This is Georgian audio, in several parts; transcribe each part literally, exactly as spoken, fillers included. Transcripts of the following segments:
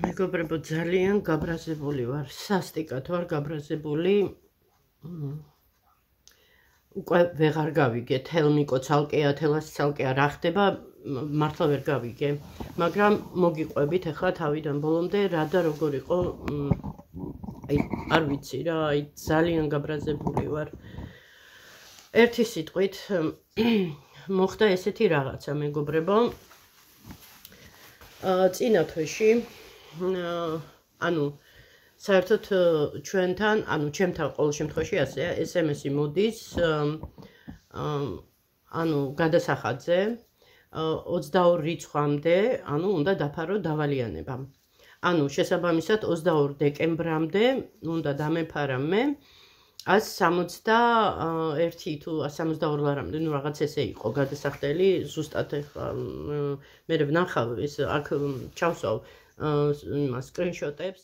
მეგობრებო, ძალიან გაბრაზებული ვარ, სასტიკად ვარ გაბრაზებული. უკვე ვეღარ გავიგე, თელმიკო ცალკეა, თელას ცალკეა რა ხდება, მართლა ვერ გავიგე. მაგრამ მოგიყვებით ახლა თავიდან ბოლომდე რა და როგორ იყო, აი არ ვიცი რა, აი ძალიან გაბრაზებული ვარ. ერთი სიტყვით მოხდა ესეთი რაღაცა, მეგობრებო. წინა თვეში ანუ საერთოდ ჩვენთან, ანუ ჩემთან ყოველ შემთხვევაში ასეა, ეს ემ ესი მოდის ანუ გადასახადზე ოცდაორ რიცხვამდე, ანუ უნდა დაფარო დავალიანება. ანუ შესაბამისად ოცდაორ დეკემბრამდე უნდა დამეფარა მე ას სამოცდაერთი თუ ას სამოცდაორი ლარამდე, ნუ რაღაც ესე იყო გადასახდელი, ზუსტად ახლა მე ვნახავ ეს აქ ჩავსვავ იმას სკრინშოტებს.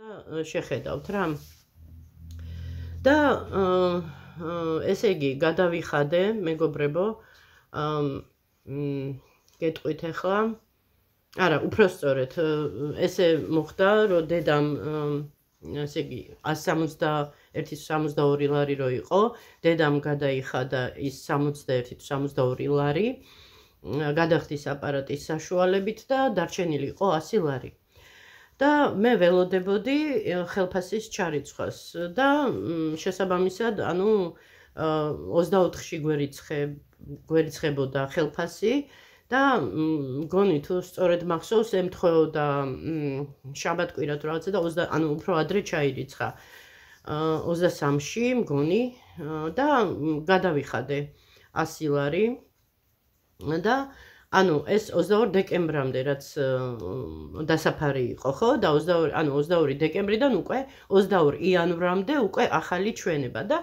და შეხედავთ რა. და ესე იგი გადავიხადე, მეგობრებო, გეტყვით ახლა. არა, უпроსწორეთ, ესე მოხდა, რომ დედამ ესე იგი ას სამოცდაერთი სამოცდაორი ლარი რო იყო, დედამ გადაიხადა ის სამოცდაერთი თუ სამოცდაორი ლარი, გადახდის აპარატის საშუალებით და დარჩენილი იყო ასი ლარი. და მე ველოდებოდი ხელფასის ჩარიცხვას და შესაბამისად, ანუ ოცდაოთხში გვერიცხებოდა ხელფასი და მგონი თუ სწორედ მახსოვს, ემთხვეოდა შაბათ-კვირა თუ რაღაცა და ანუ უფრო ადრე ჩაირიცხა ოცდასამში მგონი და გადავიხადე ასი ლარი და ანუ ეს ოცდაორ დეკემბრამდე რაც დასაფარი იყო, ხო? და ოცდაორი, ანუ ოცდაორი დეკემბრიდან უკვე ოცდაორ იანვრამდე უკვე ახალი ჩვენება და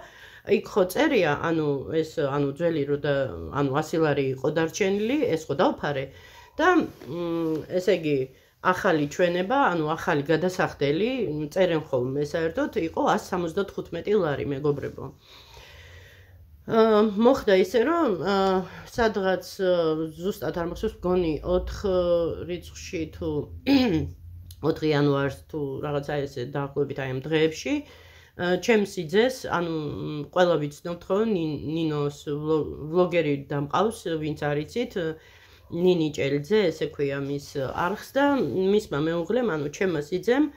იქ ხო წერია, ანუ ეს ანუ ძველი რო და ანუ ასი ლარი იყო დარჩენილი, ეს ხო დავფარე და ესე იგი ახალი ჩვენება, ანუ ახალი გადასახდელი, წერენ ხოლმე საერთოდ იყო ას სამოცდათხუთმეტი ლარი, მეგობრებო. მოხდა ისე, რომ სადღაც ზუსტად არ მახსოვს, მგონი ოთხ რიცხვში თუ ოთხი იანვარს თუ რაღაცა ესე დაახლოებით აი ამ დღეებში ჩემს სიძეს, ანუ ყველა ვიცნობთ ხო, ნინოს ვლოგერი დამყავს, ვინც არიცით, ნინი ჭელიძე, ესე ქვია მის არხს და მისმა მეუღლემ, ანუ ჩემმა სიძემ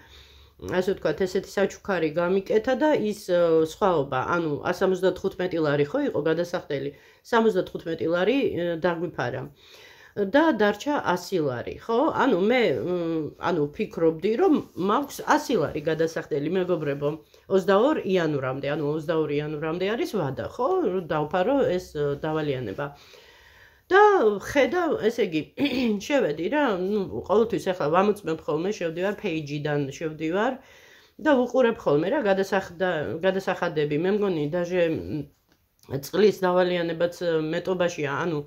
ასე ვთქვათ, ესეთი საჩუქარი გამიკეთა და ის სხვაობა, ანუ ას სამოცდათხუთმეტი ლარი ხო იყო გადასახდელი, სამოცდათხუთმეტი ლარი დაგვიფარა. და დარჩა ასი ლარი, ხო? ანუ მე ანუ ფიქრობდი, რომ მაქვს ასი ლარი გადასახდელი, მეგობრებო, ოცდაორ იანვრამდე, ანუ ოცდაორი იანვრამდე არის ვადა, ხო? დავფარო ეს დავალიანება. და ხედავ, ესე იგი, შევედი რა, ნუ ყოველთვის ახლა ვამოწმებ ხოლმე, შევდივარ page-დან შევდივარ და ვუყურებ ხოლმე რა გადასახადები. მე მგონი დაჟე წყლის დავალიანებაც მეტობაშია, ანუ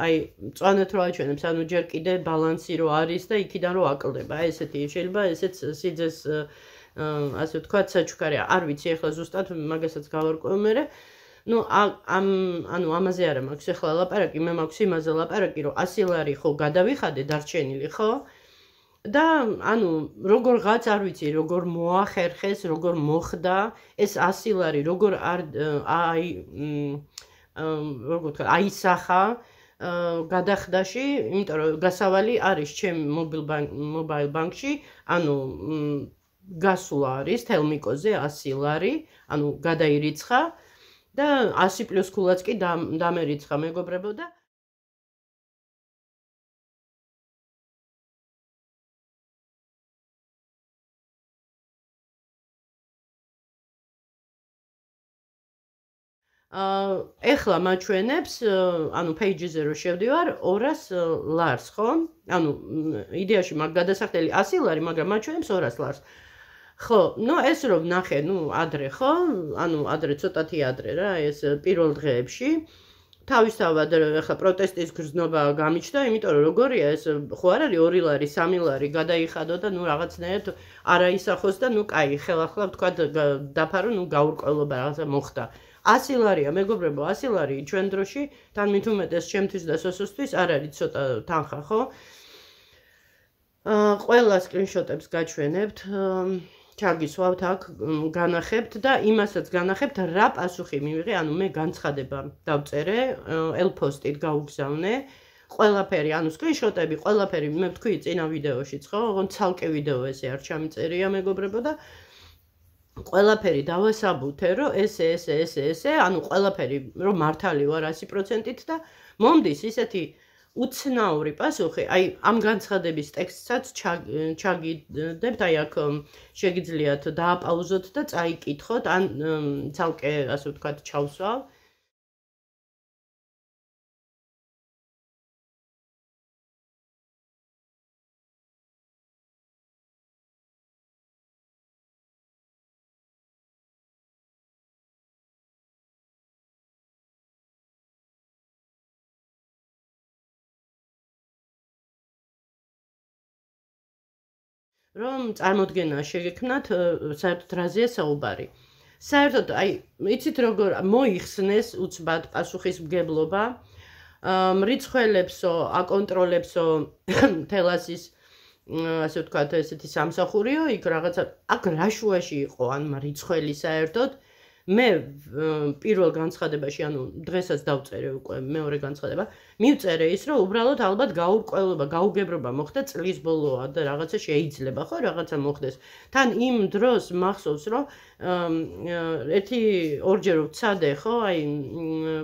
აი მწვანეთ რო აჩვენებს, ანუ ჯერ კიდე ბალანსი რო არის და იქიდან რო აკლდება. ესეთი შეიძლება ესეც სიძეს ასე ვთქვათ საჩუქარია. არ ვიცი ახლა ზუსტად მაგასაც გავარკვევ მერე. ნუ ამ ანუ ამაზე არა მაქვს ახლა ლაპარაკი, მე მაქვს იმაზე ლაპარაკი, რომ ასი ლარი ხო გადავიხადე დარჩენილი, ხო? და ანუ როგორღაც არ ვიცი, როგორ მოახერხეს, როგორ მოხდა ეს ასი ლარი, როგორ არ აი როგორ ვთქვა, აისახა გადახდაში, იმიტომ რომ გასავალი არის ჩემ მობაილ ბანკში, ანუ გასვლა არის თელმიკოზე ასი ლარი, ანუ გადაირიცხა და ასი პლუს ქულაც კი დამერიცხა, მეგობრებო და ეხლა მაჩვენებს, ანუ page-ზე რო შევდივარ, ორას ლარს, ხო? ანუ იდეაში მაგ გადასახდელი ასი ლარი, მაგრამ მაჩვენებს ორას ლარს. ხო, ნუ ეს რო ვნახე, ნუ ადრე, ხო? ანუ ადრე, ცოტათი ადრე რა, ეს პირველ დღეებში თავისთავად ახლა პროტესტის გრძნობა გამიჩნდა, იმიტომ რომ როგორია ეს ხო არ არის ორი ლარი, სამი ლარი გადაიხადო და ნუ რაღაცნაირად არაისახოს და ნუ კაი, ხელახლა ვთქვა დაფარო, ნუ გაურკვევლობა რაღაცა მოხდა. ასი ლარია, მეგობრებო, ასი ლარი ჩვენ დროში, თან მით უმეტეს ჩემთვის და სოსოსთვის არ არის ცოტა თანხა, ხო? აა ყველა სკრინშოტებს გაჩვენებთ. ჩაგისვავთ აქ, განახებთ და იმასაც განახებთ, რა პასუხი მივიღე, ანუ მე განცხადება დავწერე, ელფოსტით გაუგზავნე, ყველაფერი, ანუ სკრინშოტები, ყველაფერი, მე ვთქვი წინა ვიდეოშიც, ხო? ოღონდ ცალკე ვიდეო ესე არ ჩამიწერია, მეგობრებო და ყველაფერი დავასაბუთე, რომ ესე, ესე, ესე, ესე, ანუ ყველაფერი, რომ მართალი ვარ ასი პროცენტით და მომდის ისეთი უცნაური პასუხი, აი ამ განცხადების ტექსტსაც ჩაგიდებთ, აი აქ შეგიძლიათ დააპაუზოთ და წაიკითხოთ, ან ცალკე, ასე ვთქვათ, ჩავსვავ. რომ წარმოდგენა შეგექმნათ, საერთოდ რაზეა საუბარი. საერთოდ, აი, იცით როგორ მოიხსნეს უცბად პასუხისმგებლობა, მრიცხველებსო, აკონტროლებსო თელასის, ასე ვთქვათ, ესეთი სამსახურიო, იქ რაღაცა, აქ რა შუაში იყო, ან მრიცხველი საერთოდ, მე პირველ განცხადებაში, ანუ დღესაც დავწერე უკვე მეორე განცხადება, მივწერე ის, რომ უბრალოდ ალბათ გაურკვევლობა, გაუგებრობა მოხდა წლის ბოლოა და რაღაცა შეიძლება, ხო, რაღაცა მოხდეს. თან იმ დროს მახსოვს, რომ ერთი ორჯერ ვცადე, ხო, აი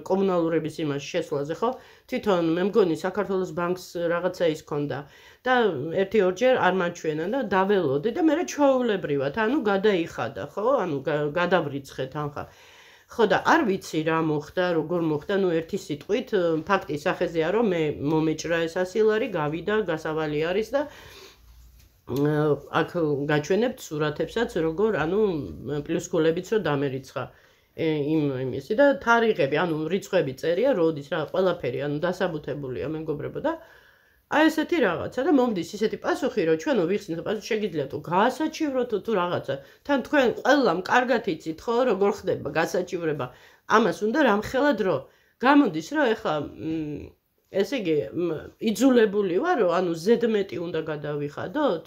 კომუნალურების იმას შესვლაზე, ხო, თვითონ მე მგონი საქართველოს ბანკს რაღაცა ის ქონდა და ერთი ორჯერ არ მაჩვენა და დაველოდე და მე ჩვეულებრივად, ანუ გადაიხადა, ხო, ანუ გადავრიცხე თანხა. ხო და არ ვიცი რა მოხდა, როგორ მოხდა, ნუ ერთი სიტყვით, ფაქტი სახეზეა, რომ მე მომეჭრა ეს ასი ლარი, გავიდა, გასავალი არის და აქ გაჩვენებთ სურათებსაც, როგორ, ანუ პლუსკულებიც რო დამერიცხა იმ იმისი და თარიღები, ანუ რიცხვები წერია, როდის რა, ყველაფერი, ანუ დასაბუთებულია, მეგობრებო და აი ესეთი რაღაცა და მომდის ისეთი პასუხი, რომ ჩვენო ვიხსნით პასუხი შეგიძლიათ თუ გაასაჩივროთ თუ რაღაცა. თან თქვენ ყველამ კარგად იცით, ხო, როგორ ხდება გასაჩივრება. ამას უნდა რამხელა დრო. გამოდის, რომ ეხლა ესე იგი იძულებული ვარ, რომ ანუ ზედმეტი უნდა გადავიხადოთ.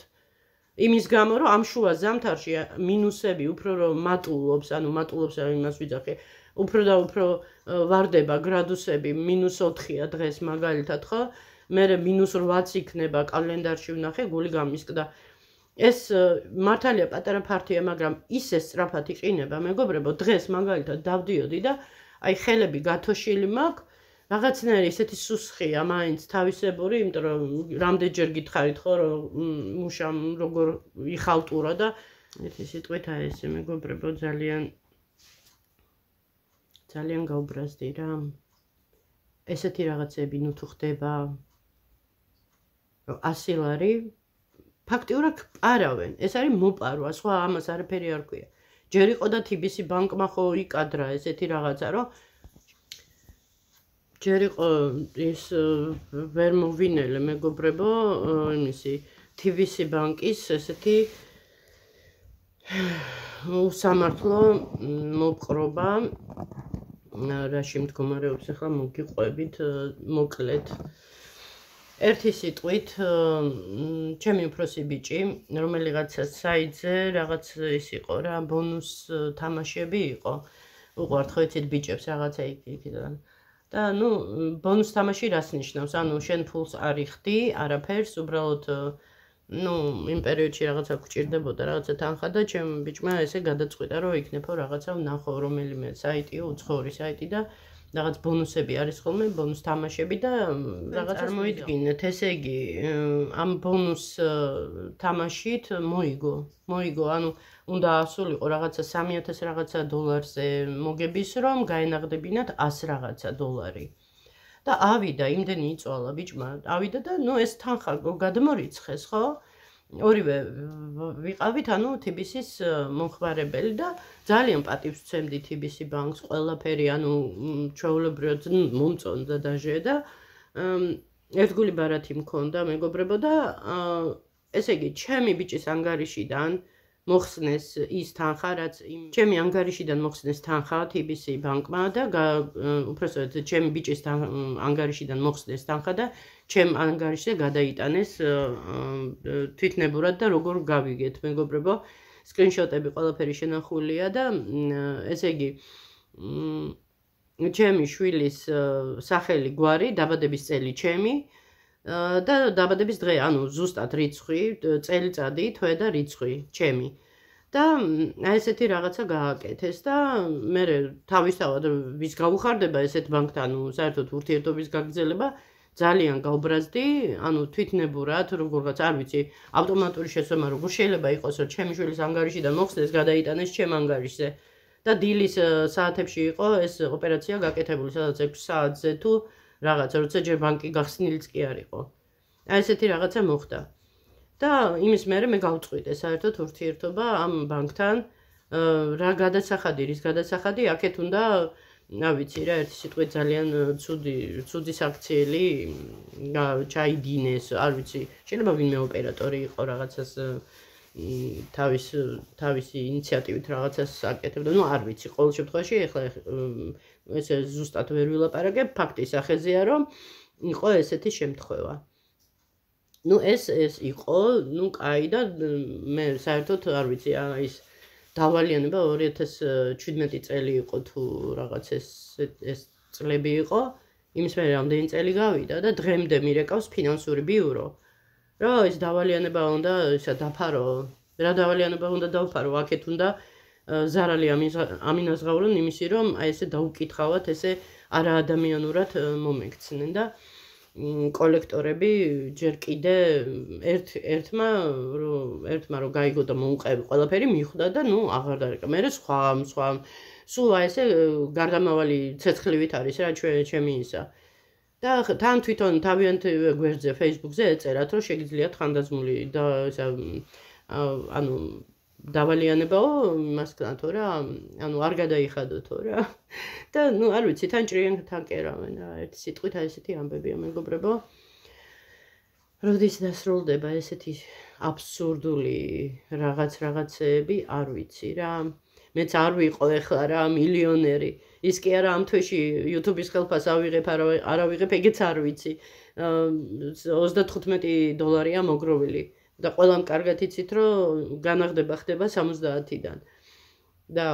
იმის გამო, რომ ამ შუა ზამთარში მინუსები უფრო რომ მატულობს, ანუ მატულობს იმას ვიძახე, უფრო და უფრო ვარდება გრადუსები, მინუს ოთხია დღეს მაგალითად, ხო? მე მინუს რვაც იქნება კალენდარში ვნახე, გული გამისკდა. ეს მართალია პატარა ფართია, მაგრამ ისე სწრაფად იყინება, მეგობრებო, დღეს მაგალითად დავდიოდი და აი ხელები გათოშილი მაქვს, რაღაცნაირი ისეთი სუსხია, მაინც თავისებური, იმიტომ რომ რამდენჯერ გითხარით, ხო, რომ მუშამ როგორ იხალტურა და ერთი სიტყვით აი ესე, მეგობრებო, ძალიან ძალიან გაუბრაზდი რა. ესეთი რაღაცები ნუ თუ ხდება ასი ლარი ფაქტიურად პარავენ. ეს არის მოპარვა, სხვა ამას არაფერი არ ქვია. ჯერ იყო და თი ბი სი ბანკმა ხო იკადრა ესეთი რაღაცა, რომ ჯერ იყო ის ვერ მოვინელე, მეგობრებო, იმისი თი ბი სი ბანკის ესეთი უსამართლო მოპყრობა, რაში მდგომარეობს ახლა მოგიყვებით, მოკლედ. ერთი სიტყვით, ჩემი უფროსი ბიჭი, რომელიღაცა საიტზე რაღაც ის იყო რა, ბონუს თამაშები იყო. უყვართ ხო იცით ბიჭებს რაღაცა იქიდან. და ნუ ბონუს თამაში რას ნიშნავს? ანუ შენ ფულს არ იხდი, არაფერს, უბრალოდ ნუ იმ პერიოდში რაღაცა გვჭირდებოდა, რაღაცა თანხა და ჩემ ბიჭმა ესე გადაწყვიტა, რომ იქნებო რაღაცა ვნახო რომელიმე საიტიო, უცხოური საიტი და რაღაც ბონუსები არის ხოლმე, ბონუს თამაშები და რაღაც წარმოიდგინეთ, ესე იგი, ამ ბონუს თამაშით მოიგო, მოიგო, ანუ უნდა ასულიყო რაღაცა სამი ათას რაღაცა დოლარზე მოგების რომ გაენაღდებინათ ას რაღაცა დოლარი. და ავიდა, იმდენი იწვალა ბიჭმა, ავიდა და ნუ ეს თანხა გადმორიცხეს, ხო? ორივე ვიყავით, ანუ T B C-ის მომხმარებელი და ძალიან პატივს ვცემდი T B C ბანკს, ყველაფერი, ანუ ჩვეულებრივად მომწონდა დაჟე და ერთგული ბარათი მქონდა, მეგობრებო და ესე იგი, ჩემი ბიჭის ანგარიშიდან მოხსნეს ის თანხა, რაც ჩემი ანგარიშიდან მოხსნეს თანხა T B C ბანკმა და უпроსტოდ ჩემი ბიჭის ანგარიშიდან მოხსნეს თანხა და ჩემ ანგარიშზე გადაიტანეს თვითნებურად და როგორ გავიგეთ, მეგობრებო, სკრინშოტები ყველაფერი შენახულია და ესე იგი ჩემი შვილის სახელი, გვარი, დაბადების წელი ჩემი და დაბადების დღე, ანუ ზუსტად რიცხვი, წელიწადი, თვე და რიცხვი ჩემი. და აი ესეთი რაღაცა გააკეთეს და მე თავისთავად ვის გავუხარდება ესეთ ბანკთან, ანუ საერთოდ ურთიერთობის გაგრძელება ძალიან გავბრაზდი, ანუ თვითნებურად, როგორღაც არ ვიცი, ავტომატური შესვენა როგორ შეიძლება იყოს, რომ ჩემი შვილის ანგარიშიდან მოხსნეს, გადაიტანეს ჩემ ანგარიშზე. და დილის საათებში იყო ეს ოპერაცია გაკეთებული, სადაც ექვსი საათზე თუ რაღაცა, როცა ჯერ ბანკი გახსნილიც კი არ იყო. აი ესეთი რაღაცა მოხდა. და იმის მერე მე გავწყვიტე საერთოდ ურთიერთობა ამ ბანკთან, რა გადასახადი, რის გადასახადი, აქეთ უნდა, რა ვიცი რა, ერთი სიტყვით ძალიან ცუდი, ცუდი საქციელი ჩაიდინეს, არ ვიცი, შეიძლება ვინმე ოპერატორი იყო რაღაცას თავის თავისი ინიციატივით რაღაცას აკეთებდა, ну არ ვიცი, ყოველ შემთხვევაში ეხლა ესე ზუსტად ვერ ვილაპარაკებ, ფაქტი სახეზეა, რომ იყო ესეთი შემთხვევა. ну ეს ეს იყო, ну კაი და მე საერთოდ არ ვიცი, ის დავალიანება ორი ათას შვიდმეტი წელი იყო თუ რაღაც ეს ეს წლები იყო, იმის მერე რამდენი წელი გავიდა და დღემდე მირეკავს ფინანსური ბიურო. რა ეს დავალიანება უნდა ისა დაფარო, რა დავალიანება უნდა დავფარო, აქეთ უნდა ზარალი ამინაზღავრონ იმისი, რომ აი ესე დაუკითხავთ, ესე არაადამიანურად მომექცნენ და კოლექტორები ჯერ კიდე ერთ ერთმა ერთმა რო გაიგო და მოუყევი ყველაფერი მიხვდა და ნუ აღარ დარეკა. მე სხვა სხვა სულ აი ესე გარდამავალი ცეცხლივით არის რა ჩემი ისა. და თან თვითონ თავიანთ გვერდზე Facebook-ზე ეწერათ, რომ შეგიძლიათ ხანდაზმული და ისა ანუ დავალიანებაო იმასთან რა, ანუ არ გადაიხადოთო რა. და ნუ არ ვიცი, თან ჭრიან თან კერავენ რა, ერთი სიტყვით აი ესეთი ამბებია, მეგობრებო. როდის დასრულდება ესეთი აბსურდული რაღაც რაღაცეები, არ ვიცი რა. მეც არ ვიყო ეხლა რა მილიონერი. ის კი არა ამ თვეში YouTube-ის ხელფას ავიღებ, არ ავიღებ, ეგეც არ ვიცი. ოცდათხუთმეტი დოლარია მოგროვილი. და ყველამ კარგად იცით, რომ განაღდება ხდება სამოცდაათიდან. და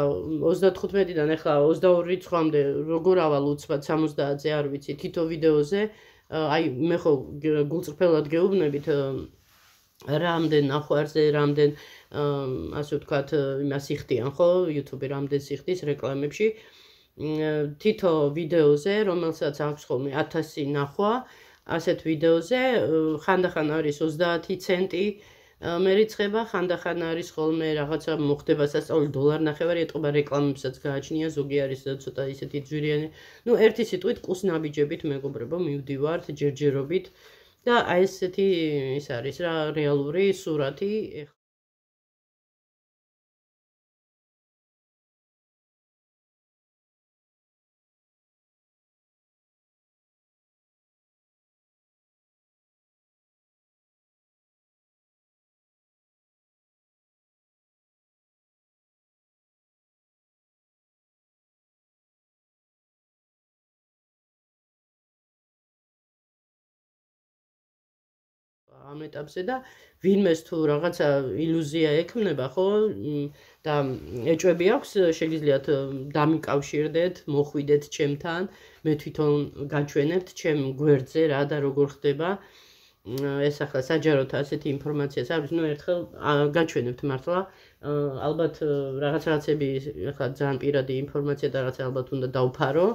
ოცდათხუთმეტიდან ახლა ოცდაორი რიცხვამდე როგორ ავალ უცბად სამოცდაათზე არ ვიცი, თითო ვიდეოზე, აი მე ხო გულწრფელად გეუბნებით რამდენ ნახვარზე, რამდენ ასე ვთქვათ, იმას იხდიან ხო, YouTube-ი რამდენ სიხდის რეკლამებში. თითო ვიდეოზე, რომელსაც აქვს ხოლმე ათასი ნახვა, ასეთ ვიდეოზე ხანდახან არის ოცდაათი ცენტი მერიცხება, ხანდახან არის ხოლმე რაღაცა მოხდება სასწაული დოლარნახევარი ეტყობა რეკლამებსაც გააჩნია, ზოგი არის ცოტა ისეთი ძვირიანი. ну ერთი სიტყვით კუსნაბიჯებით, მეგობრებო, მივდივართ ჯერჯერობით და აი ესეთი ის არის რა რეალური სურათი. ამ ეტაპზე და ვინმეს თუ რაღაცა ილუზია ექმნება, ხო? და ეჭვები აქვს, შეგიძლიათ დამიკავშირდეთ, მოხვიდეთ ჩემთან, მე თვითონ გაჩვენებთ ჩემ გვერდზე რა და როგორ ხდება. ეს ახლა საჯაროდ ასეთი ინფორმაციას არის, ну ერთხელ გაჩვენებთ მართლა. ალბათ რაღაც რაღაცები ახლა ძალიან პირადი ინფორმაცია და რაღაც ალბათ უნდა დავფარო.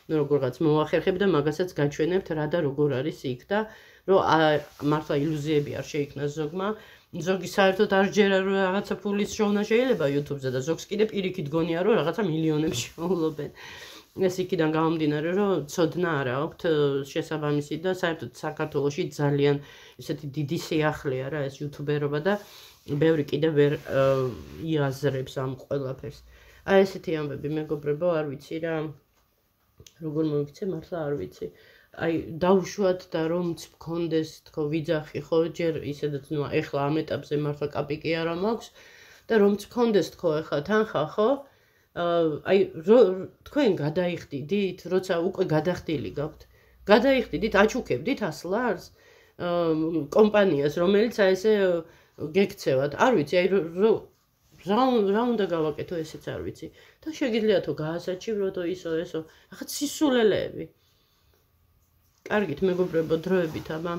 ну როგორღაც მოახერხებ და მაგასაც გაჩვენებთ რა და როგორ არის იქ და რომ მართლა ილუზიები არ შეიქმნას ზოგმა. ზოგი საერთოდ არ ჯერა რომ რაღაცა ფულის შოვნა შეიძლება YouTube-ზე და ზოგს კიდე პირიქით გონია რომ რაღაცა მილიონებს შეავლობენ. ეს იქიდან გამომდინარე, რომ ცოდნა არ აქვთ შესაბამისი და საერთოდ საქართველოში ძალიან ესეთი დიდი სიახლეა რა ეს იუთუბერობა და ბევრი კიდევ ვერ იაზრებს ამ ყველაფერს. აი ესეთი ამბები მეგობრებო, არ ვიცი რა როგორ მოვიქცე, მართლა არ ვიცი. აი დავუშვათ და რომც მქონდეს თქო ვიძახი ხო ჯერ ისედაც ნუ ეხლა ამ ეტაპზე მართლა კაპიკი არ მაქვს და რომც მქონდეს თქო ეხლა თანხა ხო აი თქვენ გადაიხდიდით, როცა უკვე გადახდილი გაქვთ. გადაიხდიდით, აჩუქებდით ასლარს კომპანიას, რომელიც აი ესე გექცევათ. არ ვიცი, აი რა უნდა გავაკეთო, ესეც არ ვიცი. და შეგიძლია თუ გაასაჩივროთ ისო ესო, ახლა სისულელეები. კარგით მეგობრებო, დროებით აბა.